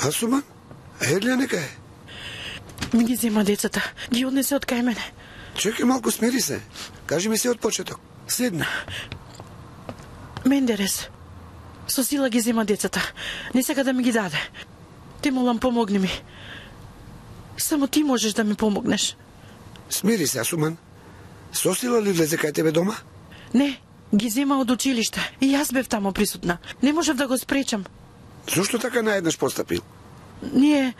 Асуман? Елија нека е. Ми ги зема децата. Ги однесе од кај мене. Чекај малку, смири се. Кажи ми се од почеток. Седни. Мендерес. Со сила ги зема децата. Не сака да ми ги даде. Те молам, помогни ми. Само ти можеш да ми помогнеш. Смири се, Асуман. Со сила ли влезе кај тебе дома? Не, ги зема од училиште. И јас бев тамо присутна. Не можев да го спречам. Зошто така наеднаш постапил? Ние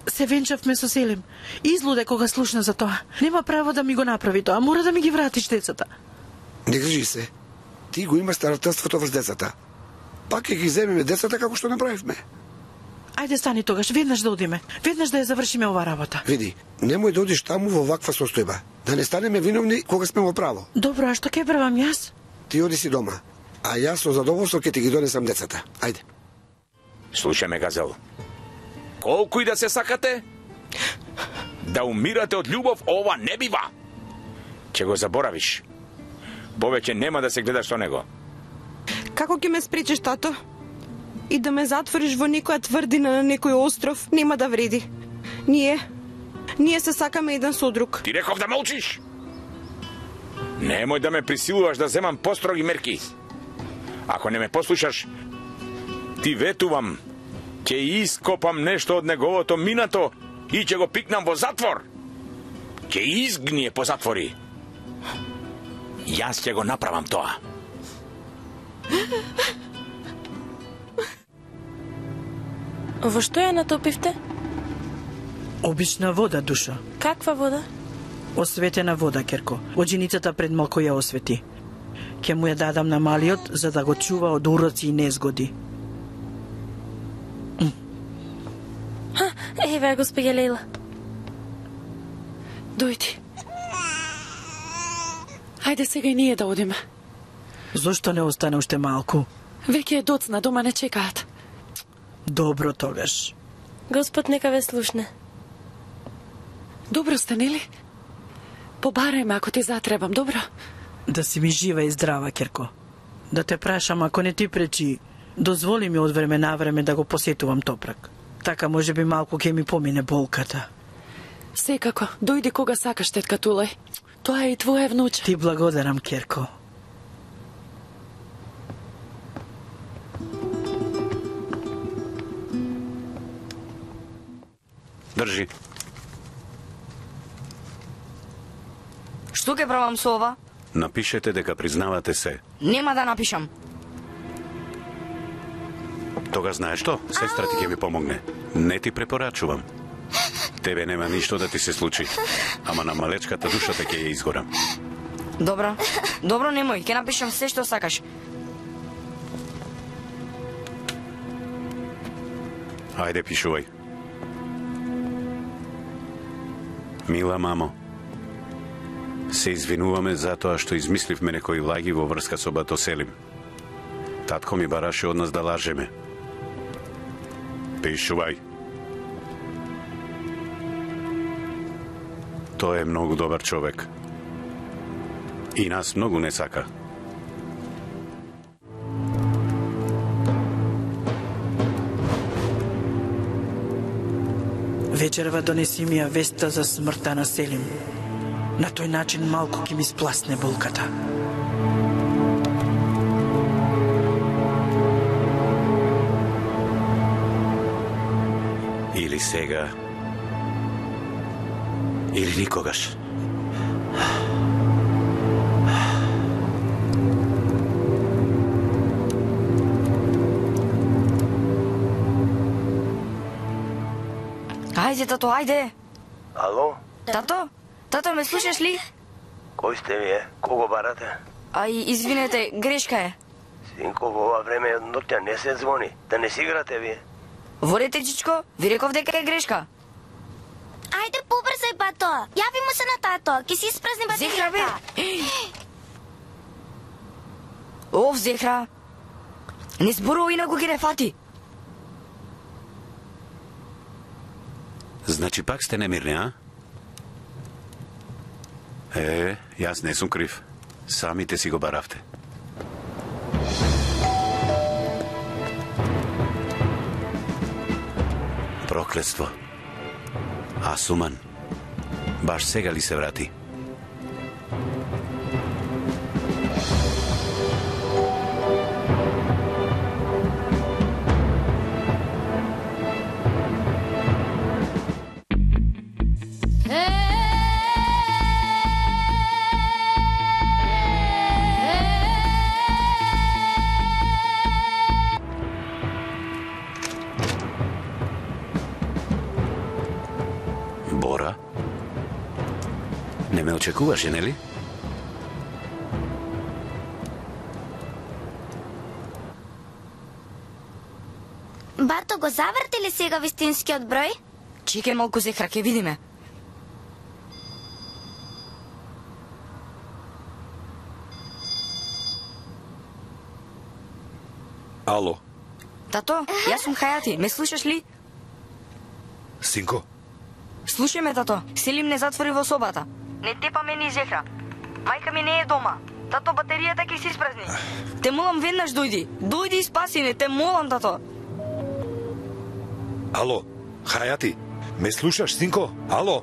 се венчавме со Селим. Излуде кога слушна за тоа. Нема право да ми го направи тоа. Мора да ми ги вратиш децата. Не грижи се. Ти го имаш старателството врз децата. Пак ќе ги земеме децата како што направивме. Ајде стани тогаш, веднаш да одиме. Веднаш да ја завршиме ова работа. Види, немој да одиш таму во ваква состојба. Да не станеме виновни кога сме во право. Добро, а што ќе правам јас? Ти оди си дома, а јас со задоволство ќе ти ги донесам децата. Ајде. Слушај ме, Газел. Колку и да се сакате, да умирате од љубов, ова не бива. Ќе го заборавиш. Повеќе нема да се гледаш со него. Како ќе ме спречиш, тато? И да ме затвориш во некоја тврдина на некој остров, нема да вреди. Ние се сакаме еден со друг. Ти реков да молчиш. Немој да ме присилуваш да земам построги мерки. Ако не ме послушаш, ти ветувам, ќе ископам нешто од неговото минато и ќе го пикнам во затвор. Ќе изгние по затвори. Јас ќе го направам тоа. Во што ја натопивте? Обична вода, душа. Каква вода? Осветена вода, Керко. Одженицата пред малку ја освети. Ке му ја дадам на малиот, за да го чува од уроци и незгоди. Еве, госпоѓа Лейла. Дојди. Хајде сега и ние да одиме. Зошто не остане уште малку? Веќе е доцна, дома не чекаат. Добро тогаш. Господ нека ве слушне. Добро сте, нели? Побарај ме ако ти затребам, добро? Да си ми жива и здрава, Керко. Да те прашам, ако не ти пречи, дозволи ми од време на време да го посетувам Топрак. Така може би малку ќе ми помине болката. Секако, дојди кога сакаш, тетка Тулај. Тоа е и твое внуче. Ти благодарам, Керко. Држи. Што ќе правам со ова? Напишете дека признавате се. Нема да напишам. Тога знаеш што? Сестра ти ќе ми помогне. Не ти препорачувам. Тебе нема ништо да ти се случи. Ама на малечката душата ќе ја изгорам. Добро. Добро, немој. Ќе напишам се што сакаш. Ајде, пишувај. Мила мамо, се извинуваме за тоа што измисливме некои лаги во врска со бато Селим. Татко ми бараше од нас да лажеме. Пишувај. Тој е многу добар човек. И нас многу не сака. Вечерва донеси ми ја веста за смртта на Селим. На тој начин малку ќе ми спласне болката. Или сега, или никогаш. Ајде, тато, ајде. Ало? Тато? Тато, ме слушаш ли? Кој сте вие? Кого барате? Извинете, грешка е. Синко, во ова време од ноќта не се звони. Да не си играте вие. Ворете, чичко, ви реков дека е грешка. Ајде, побрзај, бато. Јави му се на тато, ќе си испразни батеријата. Зехра, бе. Ов, Зехра. Не зборува инаку ги не фати. Значи пак сте немирни, а? Јас не сум крив. Самите си го баравте. проклетство. А Суман, баш сега ли се врати? Бора? Не ме очекуваше, нели? Бато, го заврти ли сега вистинскиот број? Чекај малку, Зехра, ќе видиме. Ало, Тато, јас сум Хајати, ме слушаш ли? синко, Слушај ме, тато. Селим не затвори во собата. Не тепа ме ни Зехра. Мајка ми не е дома. Тато, батеријата ќе се испразни. Те молам, веднаш дојди. Дојди и спаси ме, те молам, тато. ало, Хајати, ме слушаш, синко? Ало?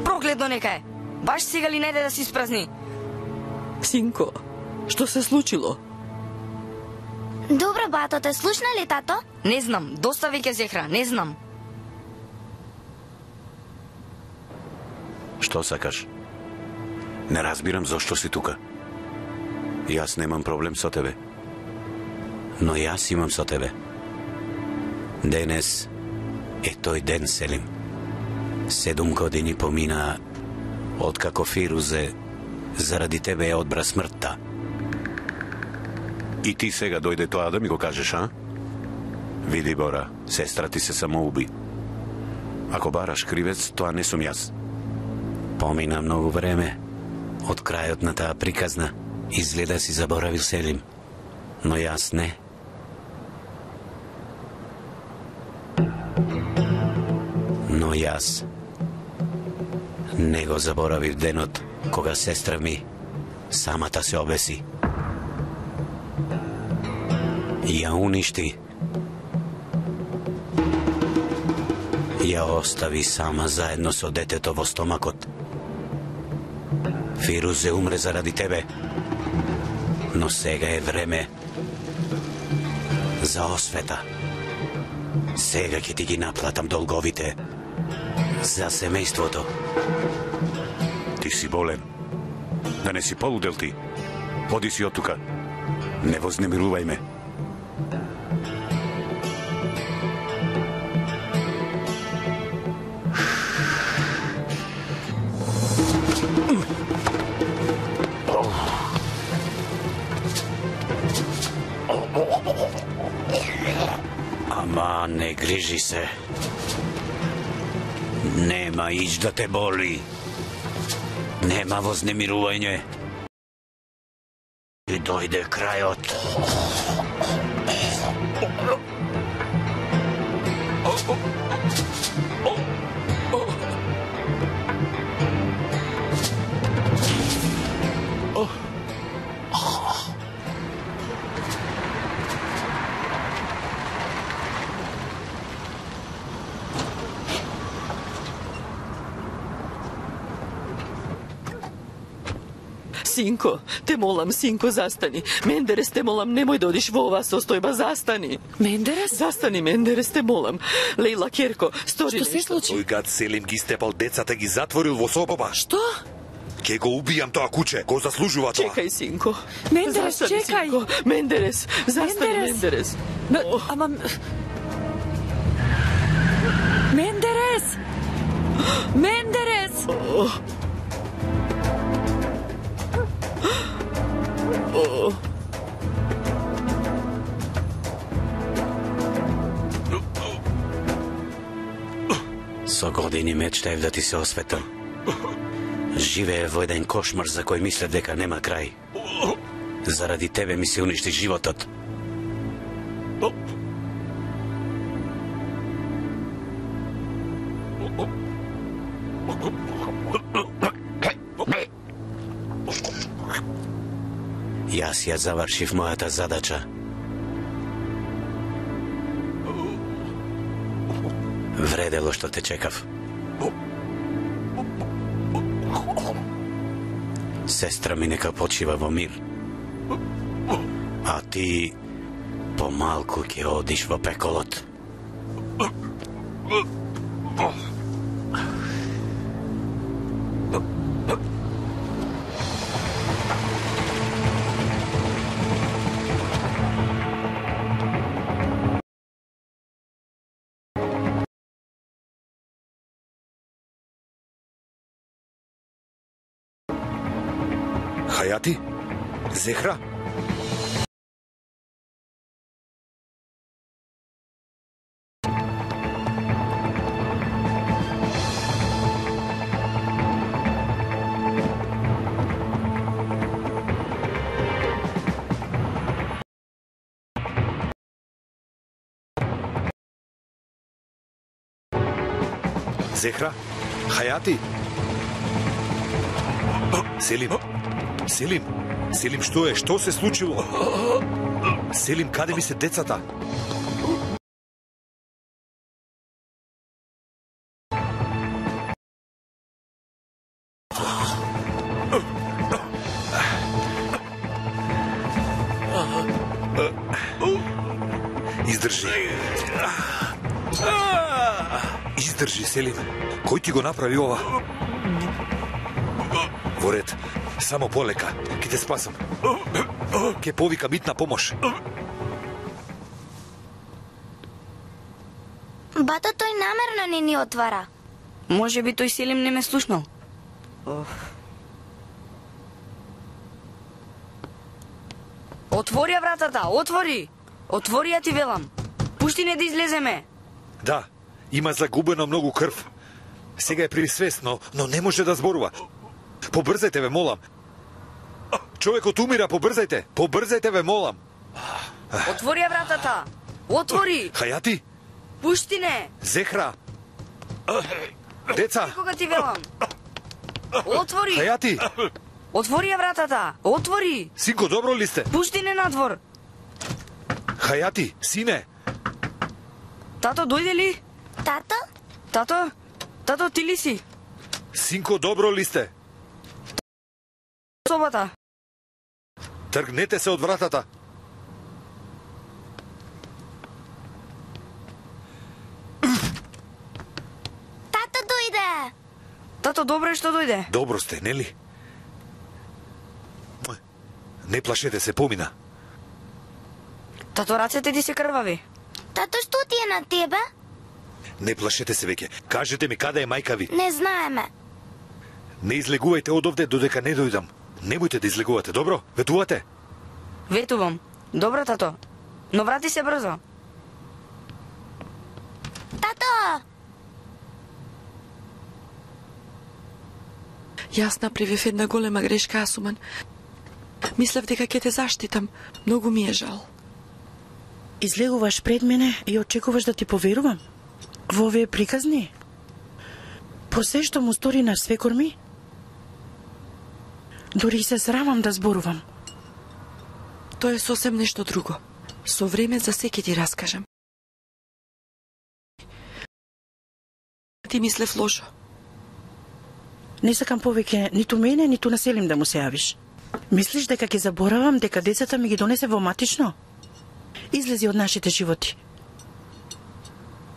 Проклетно нека е. Баш сега ли најде да се испразни? Синко, што се случило? Добро, бато, те слушна ли тато? Не знам, доста веќе Зехра, не знам. Што сакаш? Не разбирам зошто си тука. Јас немам проблем со тебе. Но јас имам со тебе. Денес е тој ден, Селим. 7 години поминаа откако Фирузе заради тебе ја одбра смртта. И ти сега дојде тоа да ми го кажеш, а? Види, Бора, сестра ти се самоуби. Ако бараш кривец, тоа не сум јас. Помина многу време од крајот на таа приказна. Изгледа си заборавил, Селим. Но јас не. Но јас не го заборавив денот кога сестра ми самата се обеси. Ја уништи. Ја остави сама заедно со детето во стомакот. Фирузе умре заради тебе. Но сега е време за освета. Сега ќе ти ги наплатам долговите за семејството. Ти си болен. Да не си полудел ти. Оди си од тука. Не вознемирувај ме. Ама не грижи се. Нема ич да те боли. Нема вознемирување. И дојде крајот. Синко, те молам, синко, застани. Мендерес, те молам, немој да одиш во оваа состојба, застани. Мендерес? Застани, Мендерес, те молам. Лејла, Керко, стори Што се случи? Тој гад Селим ги степал децата, ги затворил во собава. Што? Ке го убијам тоа куче, го заслужува тоа. Чекај, синко. Мендерес, Застани, чекај. синко. Мендерес, застани, Мендерес. Ама... Мендерес! Мендерес! Со години мечтаев да ти се осветам. Живее во еден кошмар за кој мислев дека нема крај. Заради тебе ми се уништи животот. Јас ја завршив мојата задача. Вредело што те чекав. Сестра ми нека почива во мир. А ти помалку ќе одиш во пеколот. Хајати? Зехра? Зехра? Хајати? Селим? Селим? Селим, што е? Што се случило? Селим, каде ми се децата? Издржи. Издржи, Селим. Кој ти го направи ова? Во ред. Само полека. Ке те спасам. Ке повикам итна помош. Бато, тој намерно не ни отвара. Може би тој Селим не ме слушнал. Отвори ја вратата, отвори! Отвори ја ти велам. Пушти не да излеземе. Да, има загубено многу крв. Сега е при свест, но не може да зборува. Побрзајте, ве молам. Човекот умира, побрзајте. Побрзајте, ве молам. Отвори ја вратата. Отвори. Хајати? Пушти не. Зехра? Деца? Кога ти велам. Отвори. Хајати? Отвори ја вратата. Отвори. Синко, добро ли сте? Пушти не надвор. Хајати, сине? Тато, дојде ли? Тато? Тато? Тато, ти ли си? Синко, добро ли сте? Собата. Тргнете се од вратата. Тато дојде. Тато, добро е што дојде. Добро сте, нели? Не плашете се, помина. Тато, рацете ти се крвави. Тато, што ти е на тебе? Не плашете се веќе. Кажете ми каде е мајка ви. Не знаеме. Не излегувајте од овде додека не дојдам. Немојте да излегувате, добро? Ветувате? Ветувам. Добро, тато. Но врати се брзо. Тато! Јас направив една голема грешка, Асуман. Мислев дека ќе те заштитам. Многу ми е жал. Излегуваш пред мене и очекуваш да ти поверувам? Во овие приказни? По се што му стори на свекор ми? Дори се срамам да зборувам. Тоа е сосем нешто друго. Со време за се ќе ти раскажам. Ти мислев лошо. Не сакам повеќе ниту мене, ниту на Селим да му се јавиш. Мислиш дека ќе заборавам дека децата ми ги донесе во матично? Излези од нашите животи.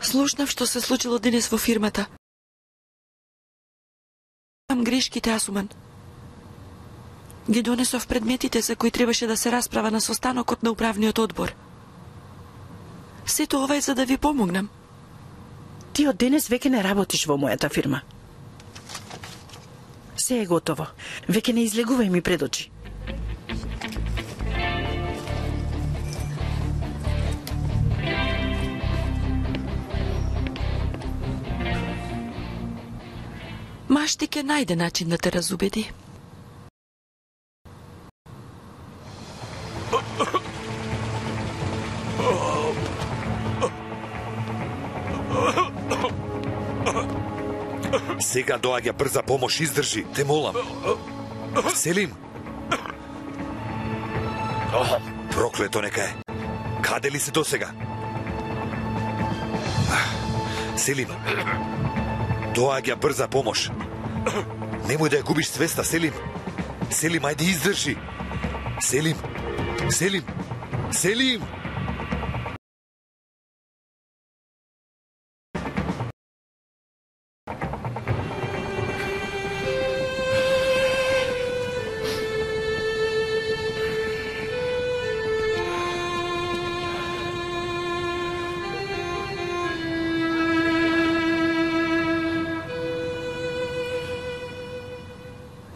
Слушнав што се случило денес во фирмата. Имам грешките, Асуман. Ги донесов предметите за кои требаше да се расправа на состанокот на управниот одбор. Сето ова е за да ви помогнам. Ти од денес веќе не работиш во мојата фирма. Се е готово. Веќе не излегувај ми пред очи. Машти ќе најде начин да те разубеди. Сега доаѓа брза помош, издржи, те молам. Селим. Проклето нека е. Каде ли се досега? Селим, доаѓа брза помош. Немој да ја губиш свеста, Селим. Селим, ајде издржи. Селим, Селим, Селим!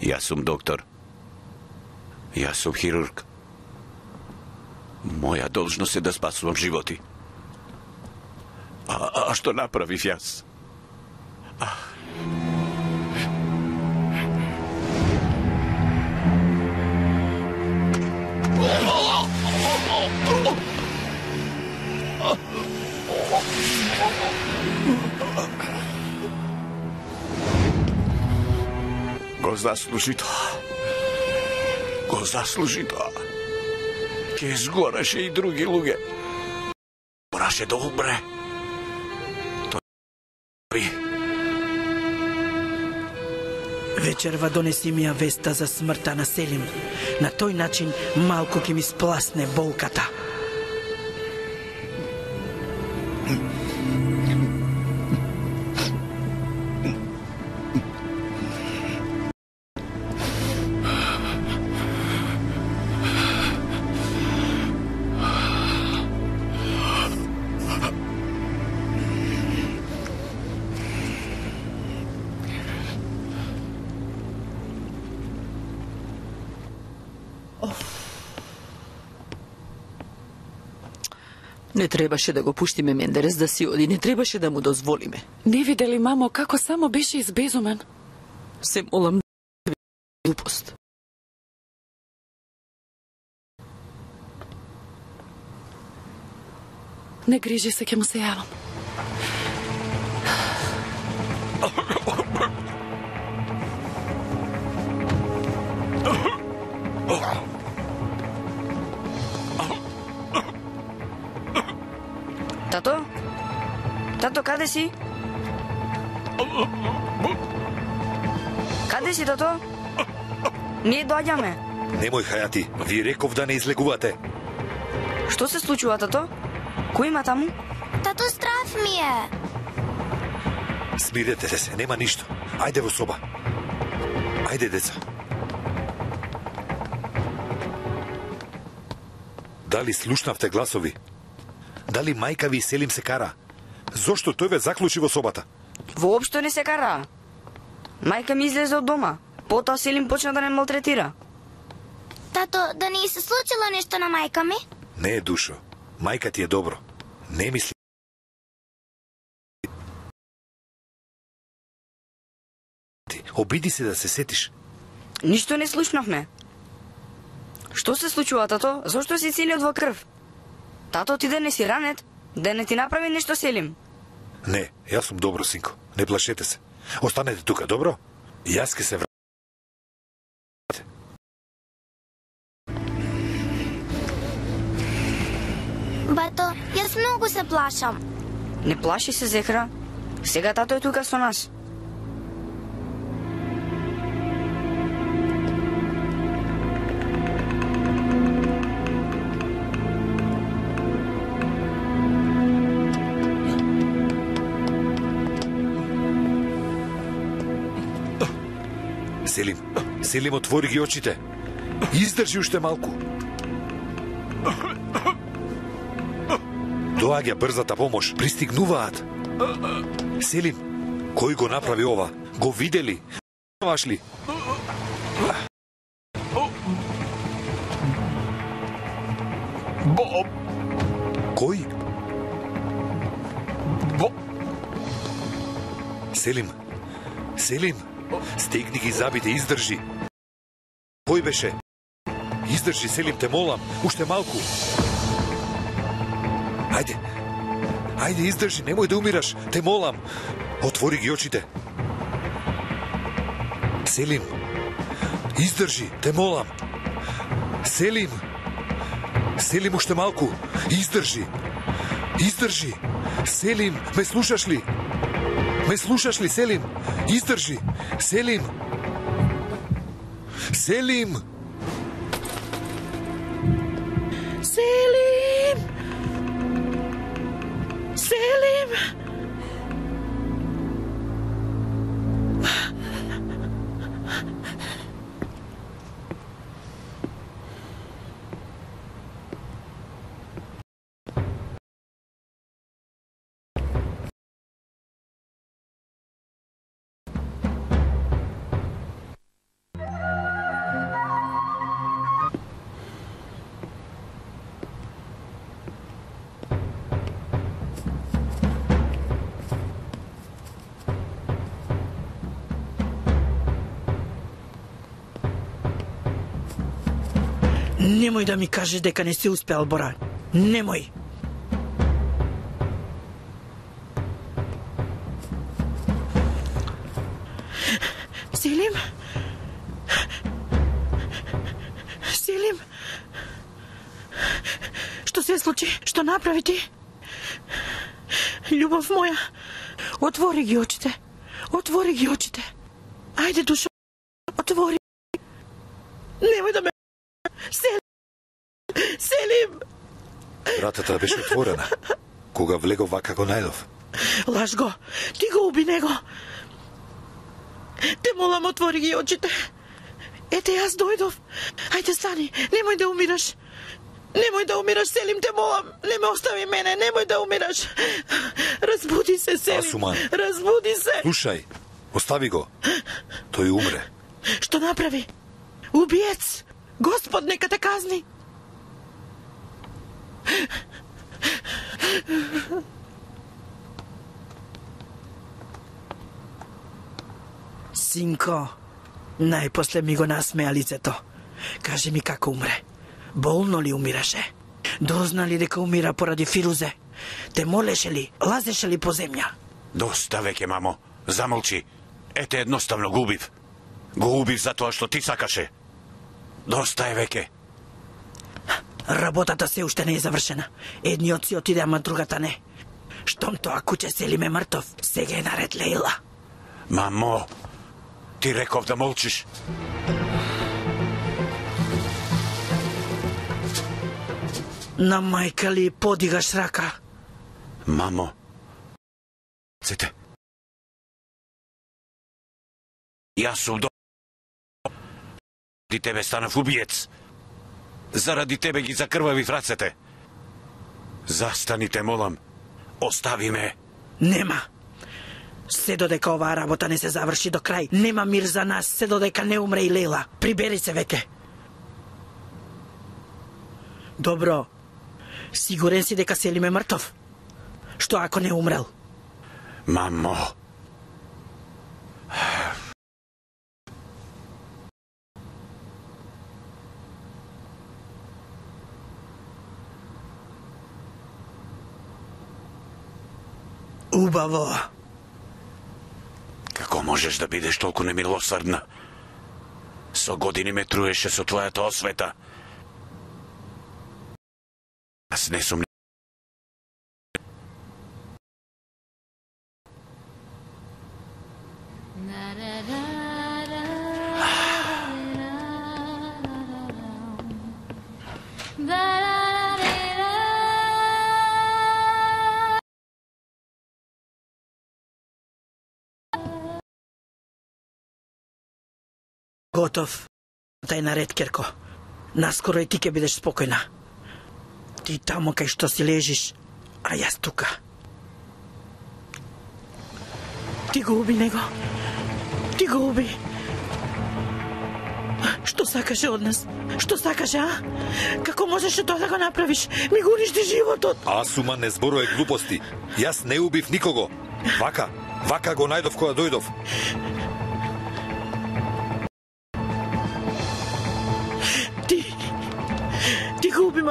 Јас сум доктор. Јас сум хирург. Моја должност е да спасувам животи. А што направив јас? Го заслужи тоа. Го заслужи тоа. Ке сгореше и други луѓе. Мораше да умре. Тој Вечерва донеси ми ја веста за смртта на Селим. На тој начин малку ќе ми спласне болката. Не требаше да го пуштиме Мендерес да си оди, не требаше да му дозволиме. Не видели, мамо, како само беше избезумен? Се молам, глупост. Не грижи се, ќе му се јавам. Тато? Тато, каде си? Каде си, тато? Ние доаѓаме. Немој, Хајати, ви реков да не излегувате. Што се случува, тато? Кој има таму? Тато, страв ми е. Смирете се, нема ништо. Ајде во соба. Ајде, деца. Дали слушнавте гласови? Дали мајка ви Селим се кара? Зошто тој ве заклучи во собата? Воопшто не се кара. Мајка ми излезе од дома. Потоа Селим почна да не малтретира. Тато, да не се случило нешто на мајка ми? Не, душо. Мајка ти е добро. Не мисли. Обиди се да се сетиш. Ништо не слушнавме. Што се случува, тато? Зошто си целиот во крв? Тато, ти да не си ранет? Да не ти направи нешто Селим? Не, јас сум добро, синко. Не плашете се. Останете тука, добро? Јас ке се вратам. Бато, јас многу се плашам. Не плаши се, Зехра. Сега тато е тука со нас. Селим, Селим, отвори ги очите. Издржи уште малку. Доаѓа брзата помош, пристигнуваат. Селим, кој го направи ова? Го видели? Ваш ли? Боб. Кој? Боб. Селим, Селим, стегни ги забите, издржи. Кој беше? Издржи, Селим, те молам, уште малку. Ајде, ајде, издржи, немој да умираш, те молам. Отвори ги очите. Селим, издржи, те молам. Селим, Селим, уште малку, издржи. Издржи. Селим, ме слушаш ли? Ме слушаш ли, Селим? Издржи! Селим! Селим! Селим! Селим! Немој да ми кажеш дека не си успеал, Бора. Немој. Селим? Селим? Што се случи? Што направи ти? Љубов моја, отвори ги очите. Отвори ги очите. Ајде, душо, отвори. Немој да ме... Селим! Вратата беше отворена. Кога влегов вака го најдов. Лаж го! Ти го уби него! Те молам, отвори ги очите. Ете, јас дојдов. Ајде, стани. Немој да умираш. Немој да умираш, Селим, те молам. Не ме остави мене, немој да умираш. Разбуди се, Селим. Асуман. Разбуди се. Слушај, остави го. Тој умре. Што направи? Убиец! Господ нека те казни. Синко, најпосле ми го насмеа лицето. Кажи ми како умре. Болно ли умираше? Дозна ли дека умира поради Фирузе? Те молеше ли? Лазеше ли по земја? Доста веќе, мамо. Замолчи. Ете, едноставно го убив. Го убив за тоа што ти сакаше. Доста е веќе. Работата се уште не е завршена. Едниот си отиде, ама другата не. Штом тоа куќе Селим е мртов, сега е наред Лейла. Мамо, ти реков да молчиш. На мајка ли подигаш рака? Мамо, цете. Јас сум до... Заради тебе станав убиец. Заради тебе ги закрвавив рацете. Застани, те молам. Остави ме. Нема. Се додека оваа работа не се заврши до крај, нема мир за нас, се додека не умре и Лейла. Прибери се веќе. Добро. Сигурен си дека Селим е мртов? Што ако не умрел? Мамо. Убаво. Како можеш да бидеш толку немилосрдна? Со години ме труеше со твојата освета. Аз не сум... Готов. Тај наред, Керко. Наскоро и ти ќе бидеш спокојна. Ти тамо кај што си лежиш, а јас тука. Ти го уби него. Ти го уби. Што сакаше од нас? Што сакаше, а? Како можеше тоа да го направиш? Ми го уништи животот. Асуман, не зборувај глупости. Јас не убив никого. Вака го најдов кога дојдов. Ти го уби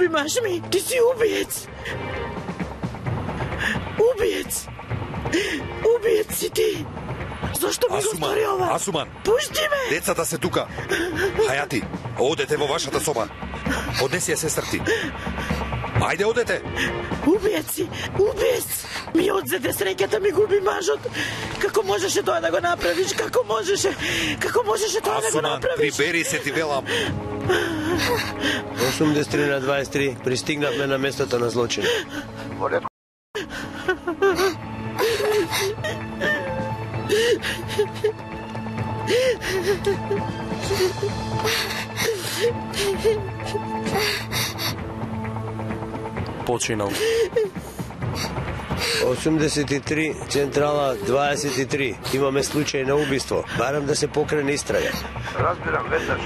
маж ми, ти си убиец. Убиец си ти. Зошто ми го стори ова? Асуман, пушти ме. Децата се тука. Хајати, одете во вашата соба. Однеси ја сестрти. Ајде, одете! Убиеци! Убиец! Ми одзеде среќата, ми губи мажот. Како можеше тоа да го направиш? Како можеше? Како можеше тоа да го Асуман, направиш? прибери се, ти велам. 83/23 пристигнавме на местото на злочин. Починал. 83, централа 23. Имаме случај на убиство. Барам да се покрене истрага. Разбирам, веднаш.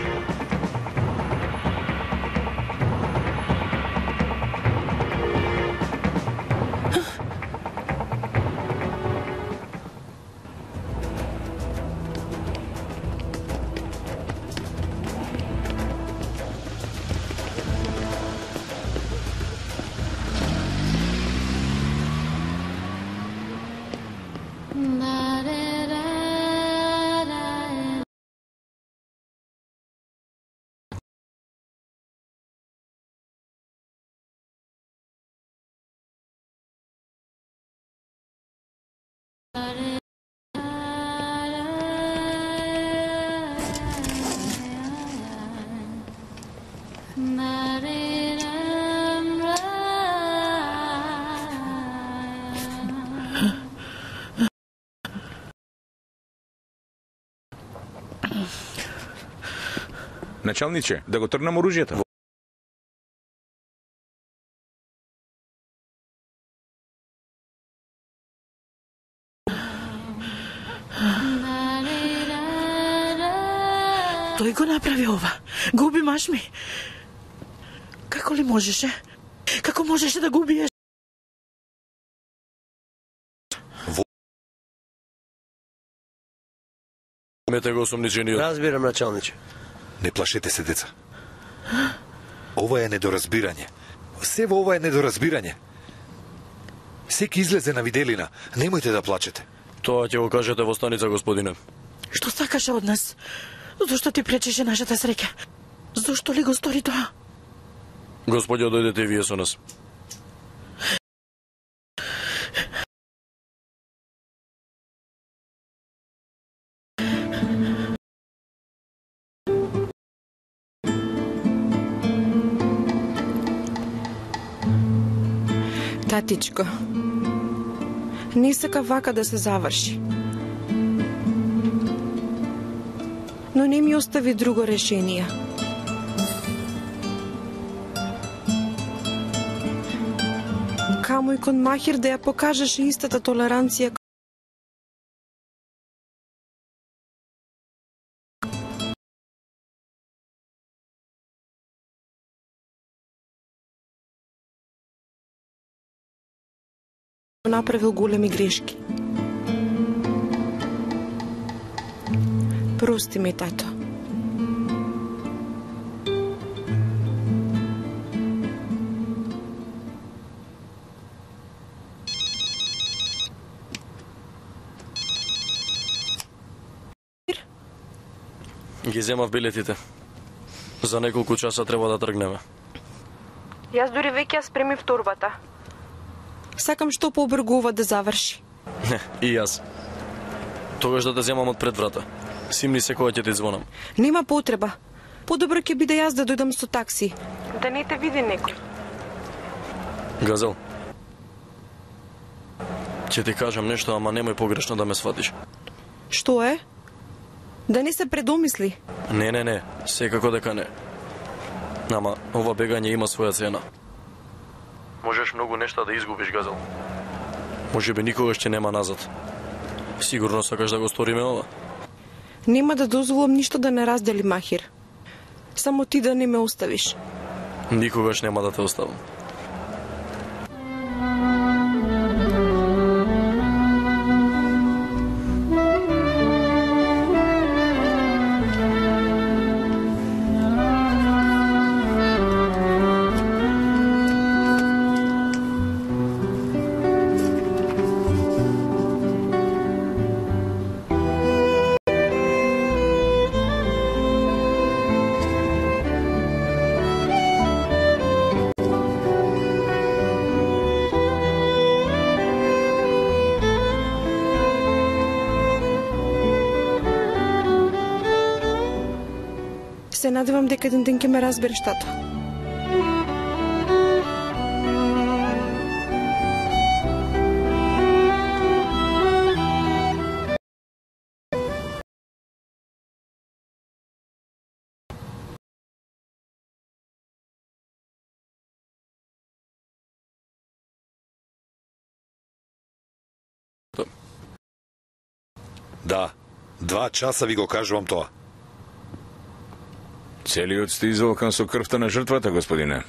Началниче, да го тргнам оружјето. Тој го направи ова. Губи маш ми. Како ли можеше? Како можеше да го убиеш? Мете го осумничениот. Разбирам, началниче. Не плашете се, деца. Ова е недоразбирање. Се во ова е недоразбирање. Секи излезе на виделина. Немојте да плачете. Тоа ќе го кажете во станица, господине. Што сакаше од нас? Зошто ти пречеше нашата среќа? Зошто ли го стори тоа? Господјо, дојдете и вие со нас. Татичко, не сака вака да се заврши. Но не ми остави друго решение. Камо и кон Махир да ја покажеше истата толеранција направил големи грешки. Прости ми, тато. Ги земав билетите. За неколку часа треба да тргнеме. Јас дури веќе ја спремив торбата. Сакам што побргу ова да заврши. Не, и јас. Тогаш да те земам од пред врата. Симни се кога ќе ти звонам. Нема потреба. Подобро ќе биде јас да дојдам со такси. Да не те види некој. Газел. Ќе ти кажам нешто, ама немој погрешно да ме сватиш. Што е? Да не се предомисли. Не, секако дека не. Ама ова бегање има своја цена. Можеш многу нешта да изгубиш, Газел. Може би никогаш ќе нема назад. Сигурно сакаш да го сториме ова? Нема да дозволам ништо да не раздели, Махир. Само ти да не ме оставиш. Никогаш нема да те оставам. надевам дека еден ден ќе ме разбереш, тато. Да, 2 часа ви го кажувам тоа. Целиот сте изволкан со крвта на жртвата, господине.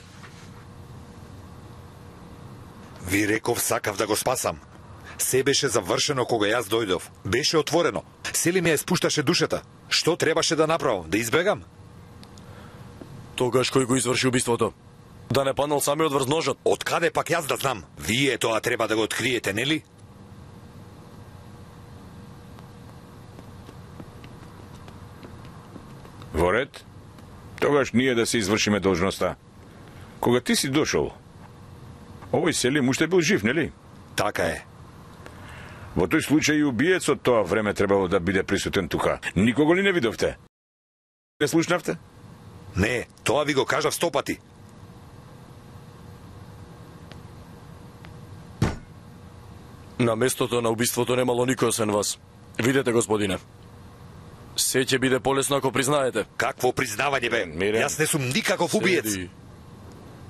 Ви реков сакав да го спасам. Се беше завршено кога јас дојдов. Беше отворено. Сели ми ја спушташе душата. Што требаше да направам? Да избегам? Тогаш кој го изврши убиството? Да не паднал самиот врз ножот? Од каде пак јас да знам? Вие тоа треба да го откриете, нели? Во ред? Тогаш ние да се извршиме должноста. Кога ти си дошол, овој Селим уште бил жив, нели? Така е. Во тој случај и убиецот тоа време требало да биде присутен тука. Никого ли не видовте? Не слушнавте? Не, тоа ви го кажав 100 пати. На местото на убиството немало никој освен вас. Видете, господине. Се ќе биде полесно ако признаете. Какво признавање, бе? Мирен. Јас не сум никаков убиец. Седи.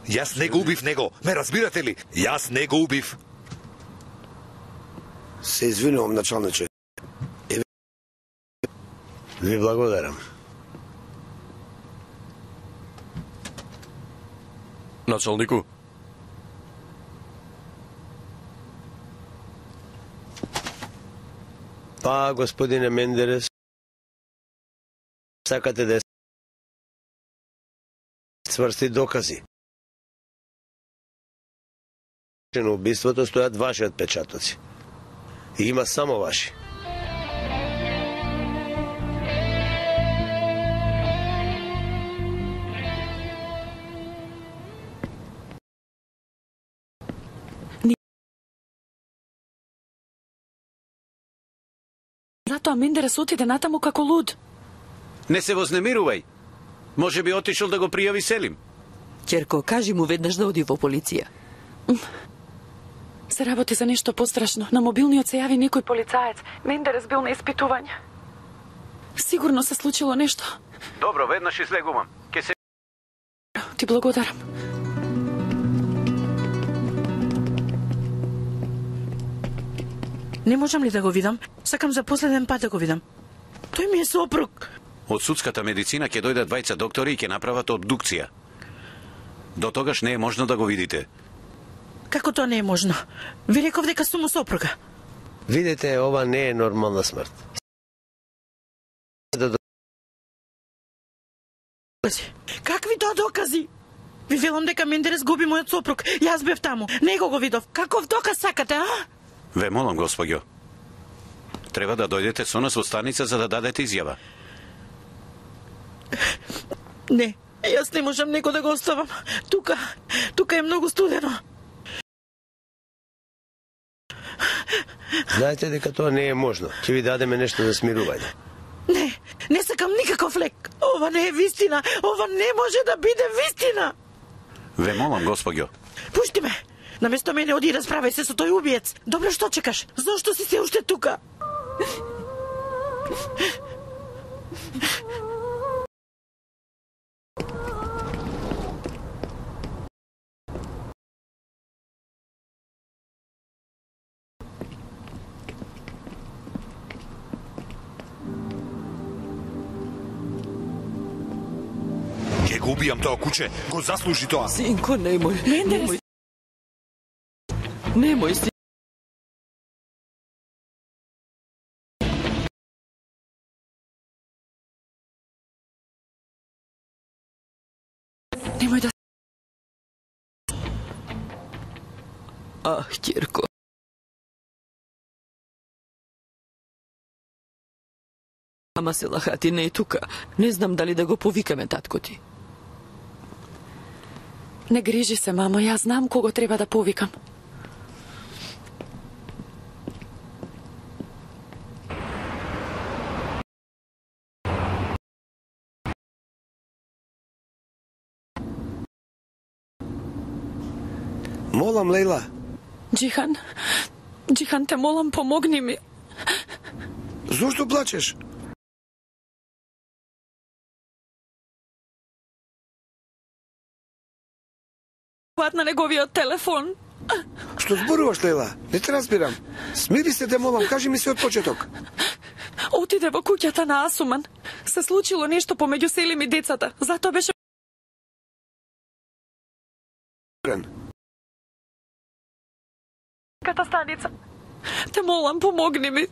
Јас не го убив него. Ме разбирате ли? Јас не го убив. Се извинувам, началниче. Ви благодарам. Началнику, Па, господине Мендерес, сакате да сврсти докази. На убиството стојат ваши отпечатоци. И има само ваши. Затоа Мендерес отиде натаму како луд. Не се вознемирувај. Може би отишол да го пријави Селим. Ќерко, кажи му веднаш да оди во полиција. Се работи за нешто пострашно. На мобилниот се јави некој полицаец. Мендерес бил на испитување. Сигурно се случило нешто. Добро, веднаш излегувам. Ке се... Ти благодарам. Не можам ли да го видам? Сакам за последен пат да го видам. Тој ми е сопруг. Од судската медицина ќе дојдат двајца доктори и ќе направат обдукција. До тогаш не е можно да го видите. Како тоа не е можно? Ви реков дека сум му сопруга. Видете, ова не е нормална смрт. Какви тоа докази? Ви велам дека Мендерес губи мојот сопруг. Јас бев таму. Него го видов. Каков доказ сакате, а? Ве молам, господјо. Треба да дојдете со нас во станица за да дадете изјава. Не, јас не можам него да го оставам. Тука е многу студено. Знаете дека тоа не е можно. Ќе ви дадеме нешто за смирување. Не сакам никаков лек. Ова не е вистина. Ова не може да биде вистина. Ве молам, господјо. Пушти ме. Наместо мене оди и расправај се со тој убиец. Добро, што чекаш? Зошто си се уште тука? Ќе го убијам тоа куче. Го заслужи тоа. Синко, немој. Мендерес. Немој си. Немој да... Ах, ќерко. Ама Селахати не е тука. Не знам дали да го повикаме татко ти. Не грижи се, мамо, јас знам кого треба да повикам. Молам, Лейла. Джихан, те молам, помогни ми. Зошто плачеш? На неговиот телефон. Што зборуваш, Лейла? Не те разбирам. Смири се, те молам, кажи ми се од почеток. Отиде во куќата на Асуман. Се случило нешто помеѓу Селим и децата. Затоа беше... Ката станица. Те молам, помогни ми.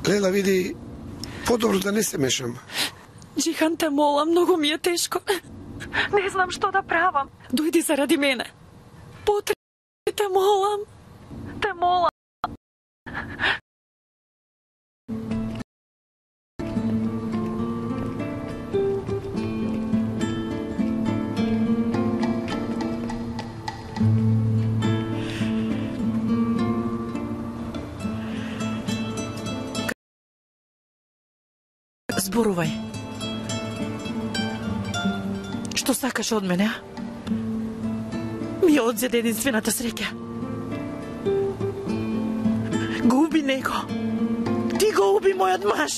Лейла, види, подобро да не се мешам. Джихан, те молам, многу ми е тешко. Не знам што да правам. Дојди заради мене. Потреби, те молам. Те молам. Зборувај. Што сакаш од мене, а? Ми ја одзеде единствената среќа. Го уби него. Ти го уби мојот маж.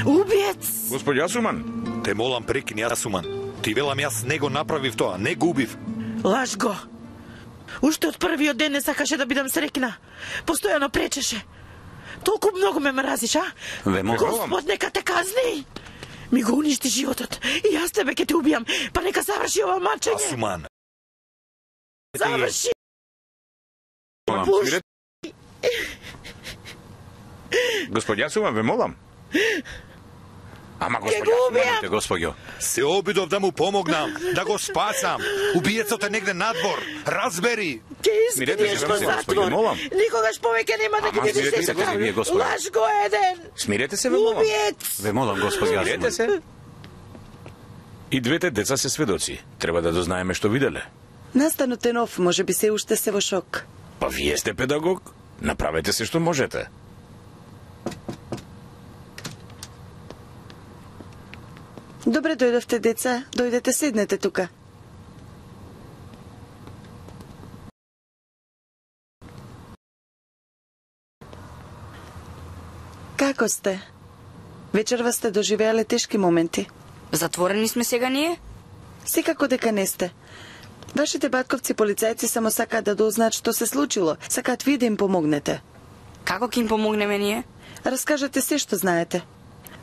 Убиец. Господи Асуман. Те молам, прекини, Асуман. Ти велам, јас не го направив тоа, не го убив. Лаж го. Уште од првиот ден не сакаше да бидам среќна. Постојано пречеше. Толку многу ме мразиш, а? Господ, нека те казни. Ми го уништи животот. И јас тебе ќе те убијам. Па нека заврши ова мачење. Асуман. Заврши. Господи Асуман, ве молам. Ама господи Асуман, господјо. Се обидов да му помогнам, да го спасам. Убиецот е негде надвор. Разбери. Ке искриеш во затвор. Никогаш повеќе нема да ги видиш така. Лаж го еден. Смирете се, ве молам. Убиец. Ве молам, господи Асуман. Смирете се. И двете деца се сведоци. Треба да дознаеме што виделе. Настанот е нов, може би се уште се во шок. Па вие сте педагог. Направете се што можете. Добре дојдовте, деца. Дојдете, седнете тука. Како сте? Вечерва сте доживеале тешки моменти. Затворени сме сега ние? Секако дека не сте. Вашите батковци полицајци само сакаат да дознаат што се случило. Сакаат вие да им помогнете. Како ќе им помогнеме ние? Раскажете се што знаете.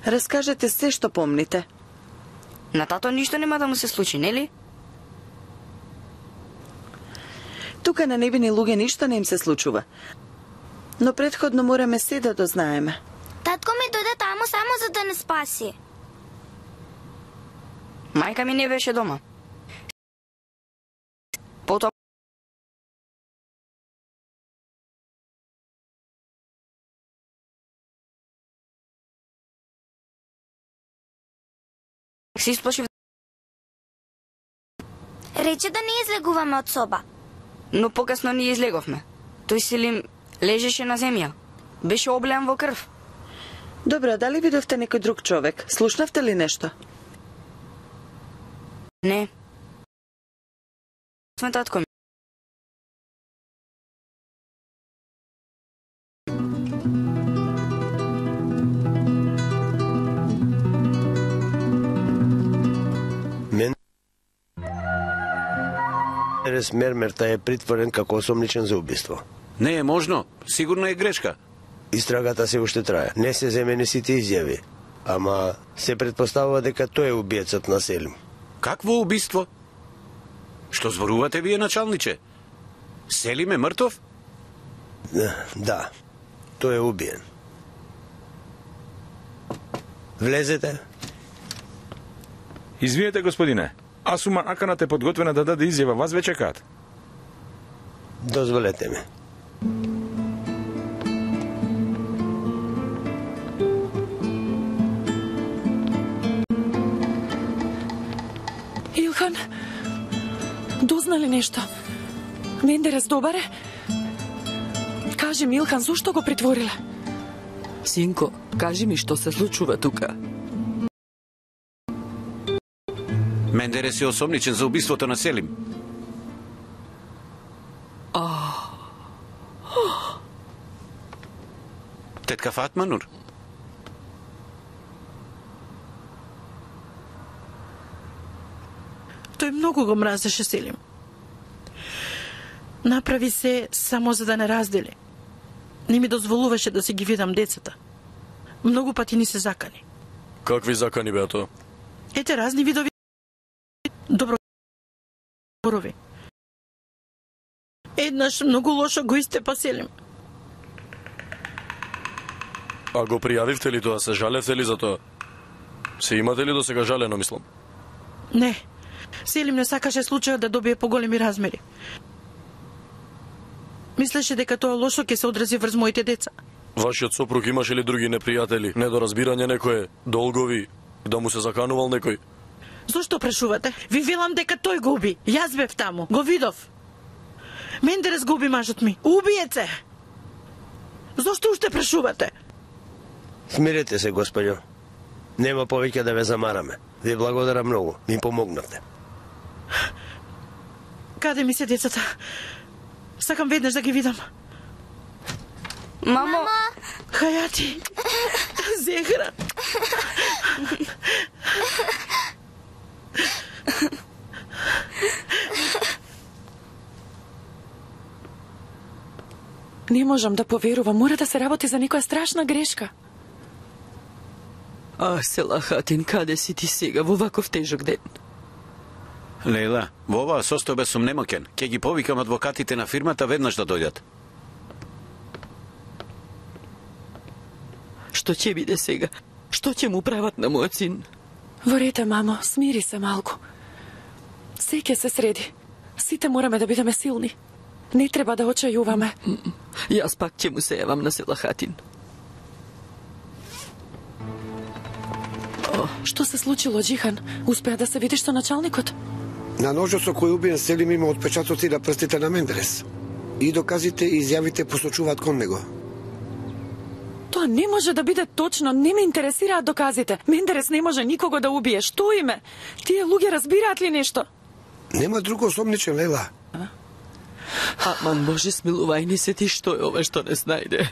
Раскажете се што помните. На тато ништо нема да му се случи, нели? Тука на невини луѓе ништо не им се случува. Но претходно мораме се да дознаеме. Татко ми дојде таму само за да не спаси. Мајка ми не беше дома. Потоа се исплашив. Рече да не излегуваме од соба. Но покасно ние излеговме. Тој Селим лежеше на земја. Беше облеан во крв. Добро, дали видовте некој друг човек? Слушнавте ли нешто? Не. Сме татко ми. Мендерес Мермерта е притворен како осомничен за убиство. Не е можно, сигурно е грешка. Истрагата се уште трае. Не се земени сите изјави. Ама се предпоставува дека тој е убиецот на Селим. Какво убиство? Што зборувате вие, началниче? Селим е мртов? Да, тој е убиен. Влезете. Извинете, господине. Асуман Аканат е подготвена да даде изјава. Вас ве чекаат. Дозволете ми. Илхан, дознали нешто? Мендерес добар е? Кажи ми, Илхан, зошто го притворила? Синко, кажи ми што се случува тука. Мендерес е осомничен за убиството на Селим. Тетка Фатма Нур. Тој многу го мразеше Селим. Направи се само за да не раздели. Не ми дозволуваше да си ги видам децата. Многу пати ни се закани. Какви закани беа тоа? Ете разни видови добро зборови. Еднаш многу лошо го истепа Селим. А го пријавивте ли тоа? Се жалевте ли за тоа? Се имате ли до сега жалено, мислам? Не. Селим не сакаше случајот да добие поголеми размери. Мислеше дека тоа лошо ќе се одрази врз моите деца. Вашиот сопруг имаше ли други непријатели? Недоразбирање некое? Долгови? Да му се заканувал некој? Зошто прашувате? Ви велам дека тој го уби. Јас бев таму. Го видов. Мендерес го уби мажот ми. Убиец е. Зошто уште прашувате? Смирете се, господјо. Нема повеќе да ве замараме. Ви благодарам многу. Ми помогнавте. Каде ми се децата? Сакам веднаш да ги видам. Мамо! Хајати! Зехра! Не можам да поверувам, мора да се работи за некоја страшна грешка. Селахатин, каде си ти сега во ваков тежок ден? Лейла, во оваа состојба сум немокен. Ќе ги повикам адвокатите на фирмата веднаш да дојдат. Што ќе биде сега? Што ќе му прават на мојот син? Во рете, мамо, смири се малку. Се ќе се среди. Сите мораме да бидеме силни. Не треба да очајуваме. Јас пак ќе му се јавам на Селахатин. Што се случило, Џихан? Успеа да се видиш со началникот? На ножот со кој убиен Селим има отпечатоци на прстите на Мендерес. И доказите и изјавите посочуваат кон него. Тоа не може да биде точно, не ме интересираат доказите. Мендерес не може никого да убие. Што име? Тие луѓе разбираат ли нешто? Нема друго осомничен, Лейла. Аман, Боже, смилувај ни се ти, што е ова што не снајде.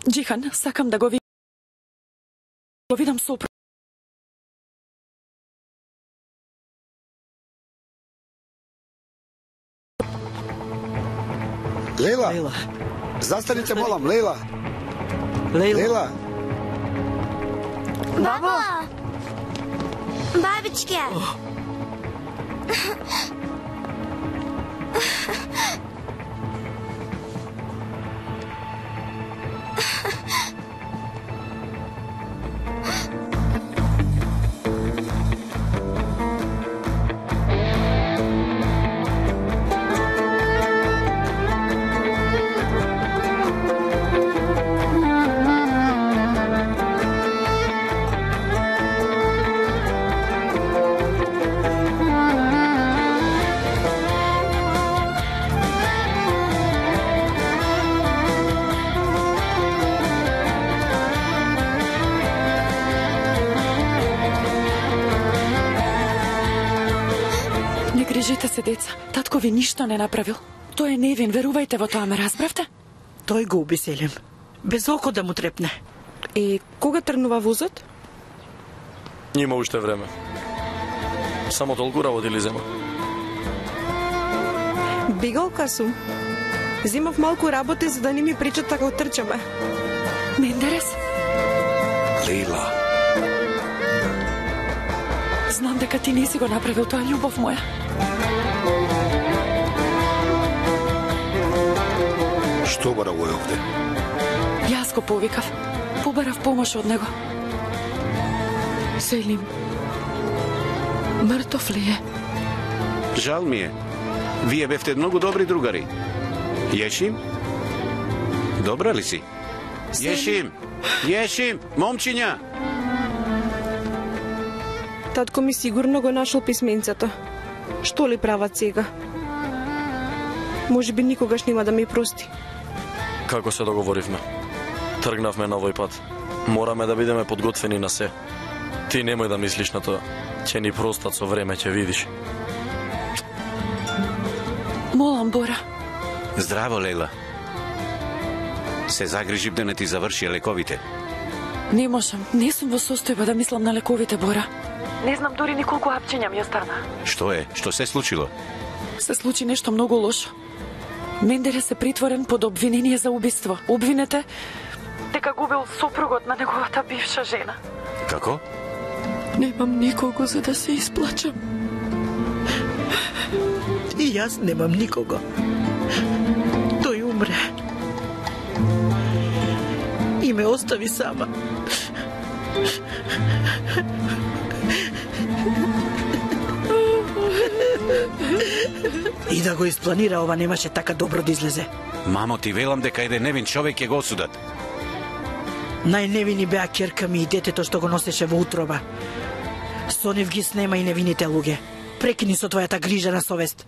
Џихан, сакам да го видам сопруг. Лейла. Застаните, молам, Лейла. Лейла. Бабо! Бабичке! Грижите се, деца. Татко ви ништо не направил. Тој е невин, верувајте во тоа, ме разбравте? Тој го уби Селим. Без око да му трепне. И кога тргнува возот? Има уште време. Само толку работи ли зема? Бигалка сум. Зимав малку работи за да не ми причат како трчаме. Мендерес? Лейла. Знам дека ти не си го направил тоа, љубов моја. Што бара го е овде? Јас го повикав. Побарав помош од него. Селим. Мртов ли е? Жал ми е. Вие бевте многу добри другари. Јешим? Добра ли си? Јешим! Јешим! Момчиња! Татко ми сигурно го нашол писменцето. Што ли прават сега? Може би никогаш нема да ми прости. Како се договоривме? Тргнавме на овој пат. Мораме да бидеме подготвени на се. Ти немој да мислиш на тоа. Ќе ни простат со време, ќе видиш. Молам, Бора. Здраво, Лейла. Се загрижив да не ти заврши лековите. Не можам. Не сум во состојба да мислам на лековите, Бора. Не знам дори ни колку апчиња ми остана. Што е? Што се случило? Се случи нешто многу лошо. Мендерес е притворен под обвинение за убиство. Обвинете дека губил сопругот на неговата бивша жена. Како? Немам никого за да се исплачам. И јас немам никого. Тој умре. И ме остави сама. И да го испланира, ова немаше така добро да излезе. Мамо, ти велам дека еден невин човек ќе го осудат. Најневини беа ќерка ми и детето што го носеше во утроба. Со нив ги снема и невините луѓе. Прекини со твојата грижа на совест.